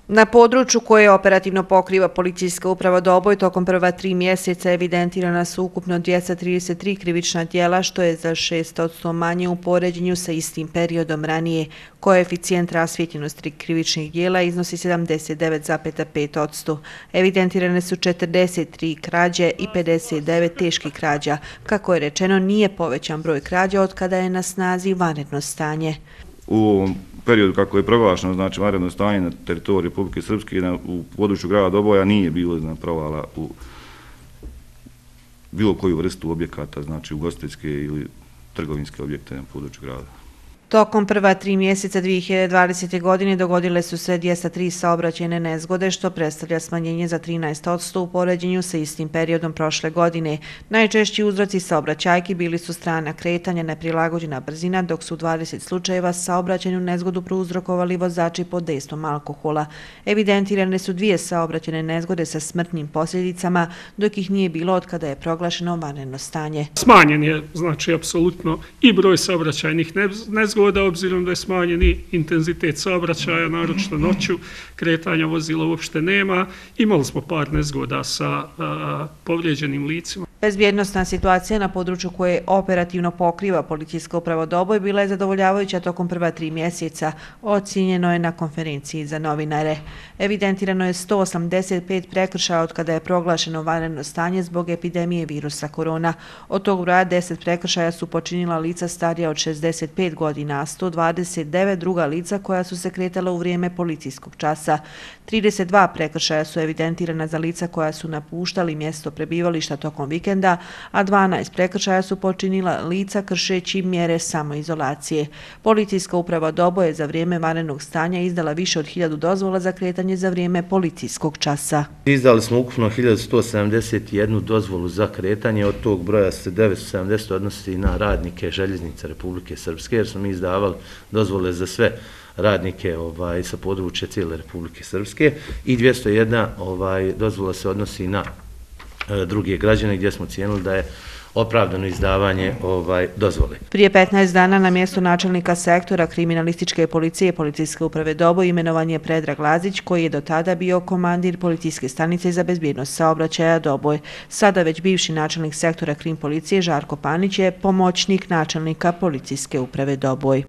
Na području koje operativno pokriva policijska uprava Doboj tokom prva 3 mjeseca evidentirana su ukupno 233 krivična djela, što je za 6% manje u poređenju sa istim periodom ranije. Koeficijent rasvijetljenosti krivičnih djela iznosi 79,5%. Evidentirane su 43 krađe i 59 teških krađa. Kako je rečeno, nije povećan broj krađa od kada je na snazi vanredno stanje. U ovom periodu kako je proglašeno, znači vanredno stanje na teritoriji Republike Srpske u području grada Doboja nije bilo provala u bilo koju vrstu objekata, znači ugostiteljske ili trgovinske objekte na području grada. Tokom prva 3 mjeseca 2020. godine dogodile su se 203 saobraćajne nezgode, što predstavlja smanjenje za 13% u poređenju sa istim periodom prošle godine. Najčešći uzroci saobraćajki bili su strana kretanja, neprilagođena brzina, dok su u 20 slučajeva saobraćajnu nezgodu prouzrokovali vozači pod dejstvom alkohola. Evidentirane su 2 saobraćajne nezgode sa smrtnim posljedicama, dok ih nije bilo od kada je proglašeno vanredno stanje. Smanjen je, znači, apsolutno i broj saobraćajnih nezgoda, obzirom da je smanjen i intenzitet saobraćaja, naročito noću, kretanja vozila uopšte nema. Imali smo par nezgoda sa povrijeđenim licima. Bezbjednostna situacija na području koje operativno pokriva policijska uprava Doboj bila je zadovoljavajuća tokom prva 3 mjeseca, ocijenjeno je na konferenciji za novinare. Evidentirano je 185 prekršaja od kada je proglašeno vanredno stanje zbog epidemije virusa korona. Od tog broja 10 prekršaja su počinila lica starija od 65 godina, a 129 druga lica koja su se kretala u vrijeme policijskog časa. 32 prekršaja su evidentirana za lica koja su napuštali mjesto prebivališta tokom vikenda, a 12 prekršaja su počinila lica kršeći mjere samoizolacije. Policijska uprava Doboj je za vrijeme vanrednog stanja izdala više od 1000 dozvola za kretanje za vrijeme policijskog časa. Izdali smo ukupno 1171 dozvolu za kretanje, od tog broja se 970 odnosi na radnike željeznice Republike Srpske, jer smo mi izdavali dozvole za sve radnike sa područja cijele Republike Srpske i 201 dozvola se odnosi na druge građane gdje smo cijenili da je opravdano izdavanje dozvole. Prije 15 dana na mjesto načelnika sektora kriminalističke policije policijske uprave Doboj imenovan je Predrag Lazić, koji je do tada bio komandir policijske stanice za bezbjednost saobraćaja Doboj. Sada već bivši načelnik sektora krim policije Žarko Panić je pomoćnik načelnika policijske uprave Doboj.